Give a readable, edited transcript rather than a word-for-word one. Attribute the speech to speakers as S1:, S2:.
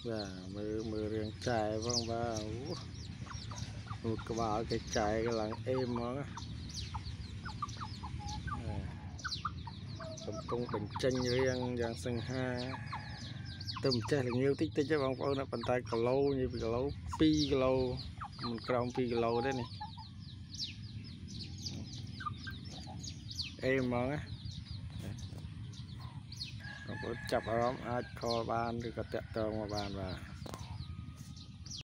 S1: បាទមើលមើលរឿងចែផងបាទអូក្បាលគេចែកឡើងអេមហ្មងកំពុងបញ្ចេញរាងយ៉ាងសង្ហាទៅមិនចេះល្ងាវតិចតិចទេបងប្អូនប៉ុន្តែគីឡូនិយាយពីគីឡូ2គីឡូមិនក្រោម2គីឡូទេនេះអេហ្មងណាបងប្អូនចាប់អារម្មណ៍អាចខលបានឬក៏តាក់ទងមកបានបាទ។